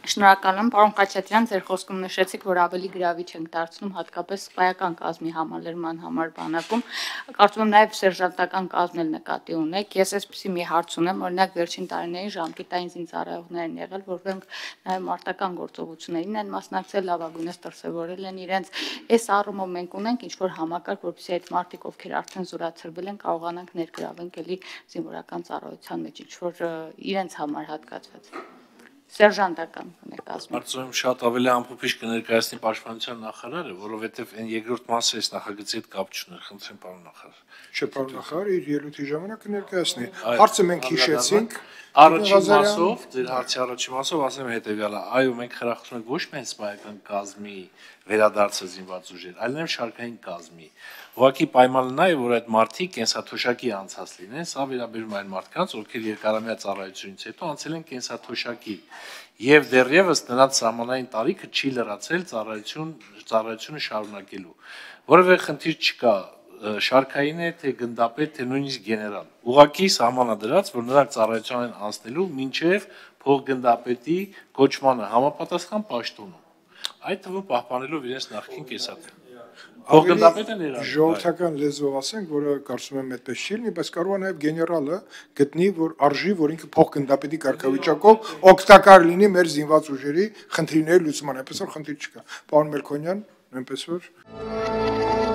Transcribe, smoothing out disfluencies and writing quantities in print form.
Շնորհակալ եմ, պարոն Խաչատրյան, ձեր խոսքում նշեցիք, որ ավելի գրավիչ ենք դարձնում հատկապես սպայական կազմի համալրման համար բանակում։ Կարծում եմ նաև սերժանտական կազմն էլ նկատի ունեք։ Ես այսպեսի մի հարց ունեմ, օրինակ վերջին տարիներին ժամկետային զինծառայողներ են եղել, որոնք նաև մարտական գործողություններին են մասնակցել, լավագույնս դրսևորել են իրենց։ Այս առումով մենք ունենք ինչ-որ համակարգ, որպեսզի այդ մարտիկ, ովքեր արդեն զորացրվել են, կարողանանք ներգրավենք էլի զինվորական ծառայության մեջ, ինչ-որ իրենց համար հատկացված։ Սերժանտական կազմում։ Կարծում եմ շատ ավելի ամփոփիչ կներկայացնի պաշտպանության նախարարը, որովհետև այն երկրորդ մասը այս նախագծի հետ կապ չուներ, խնդրեմ պարոն նախարար։ Չէ, պարոն նախարար, իր ելույթի ժամանակ կներկայացնի։ Հարցը մենք հիշեցինք։ Առաջին մասով, ձեր հարցի առաջին մասով ասեմ հետևյալը, այո, մենք խրախուսում ենք ոչ միայն սպայական կազմի վերադարձը զինված ուժեր, այլ նաև շարքային կազմի։ Ուղղակի պայմանը նա է, որ այդ մարդիկ կենսաթոշակի անցած լինեն, սա վերաբերում այն մարդկանց, ովքեր երկարամյա ծառայությունից հետո անցել են կենսաթոշակի, եւ դեռևս նրանց սահմանային տարիքը չի լրացել ծառայությունը շարունակելու։ Որևէ խնդիր չկա, շարքային է, թե գնդապետ, թե նույնիսկ գեներալ։ Ուղղակի սահմանադրած, որ նրանք ծառայություն են անցնելու մինչև փոխգնդապետի կոչմանը համապատասխան պաշտոնում։ Այդ թվում պահպանելով իրենց նախկին կեսաթը։ Փոխգնդապետը ներառվում է։ Ժողովրդական լեզվով ասենք, որը կարծում եմ այդպես չի լինի, բայց կարող է նաև գեներալը գտնի, որ արժի, որ ինքը փոխգնդապետի կարգավիճակով օգտակար լինի մեր զինված ուժերի խնդիրների լուծման, այնպես որ խնդիր չկա։ Պարոն Մելքոնյան, նույնպես որ